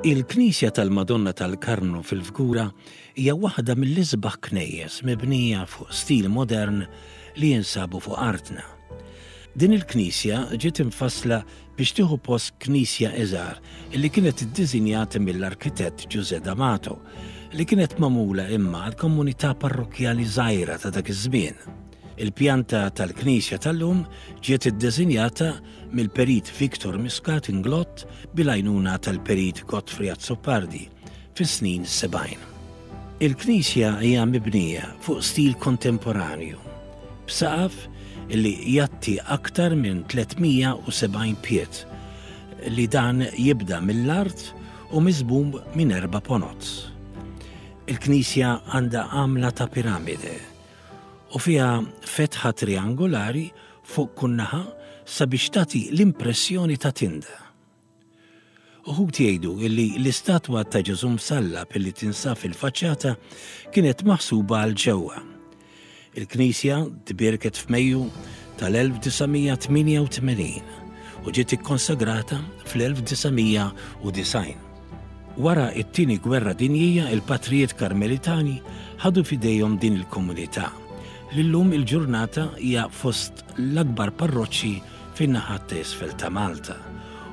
Il-Knisja tal-Madonna tal-Karmnu fil-Fgura hija waħda mill-isbaħ knejjes mibnija fuq stil modern li jinsabu fuq artna. Din il-knisja ġiet imfassla biex tieħu post knisja iżgħar li kienet iddisinjata mill-arkitett Ġużè D'Amato, li kienet magħmula imma għal komunità parrokkjali żgħira ta' dak iż-żmien. Il-pjanta tal-knisja tal-lum ġiet iddisinjata mill-Perit Victor Muscat Inglott bil-għajnuna tal-Perit Godfrey Azzopardi fis-snin 70. Il-knisja hija mibnija fuq stil kontemporanju, b'saqaf li jgħatti aktar minn 370 pied, li dan jibda mill-art u miżmum minn erba' ponots. Il-knisja għandha għamla ta' piramide u fiha fetħa triangolari fuq kull naħa sabiex tagħti l-impressjoni ta' tinda. Uħud jgħidu illi l-istatwa ta' Ġesù msallab illi tinsab fil-faċċata kienet maħsuba għal ġewwa. Il-knisja tbierket f'Mejju tal-1988 u ġiet ikkonsagrata fl-1990. Wara t-Tieni Gwerra Dinjija il-Patrijiet Karmelitani ħadu f'idejhom din il-komunità, li llum il-ġurnata hija fost l-akbar parroċċi fin-naħat ta' isfel ta' Malta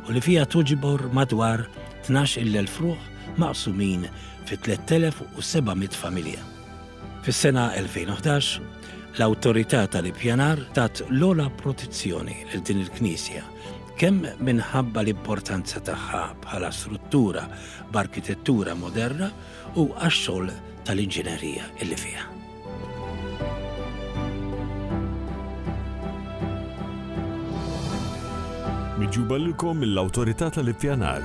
u li fiha tuġbor madwar 12,000 ruħ maqsumin fi 3,700 familja. Fis-sena 2011, l-Awtorità tal-Ippjanar tat l-ogħla protezzjoni lil din il-knisja, kemm minħabba l-importanza tagħha bħala struttura b'arkitettura moderna u għax-xogħol tal-inġinerija illi fiha. Miġjuba lilkom mill-Awtorità tal-Ippjanar.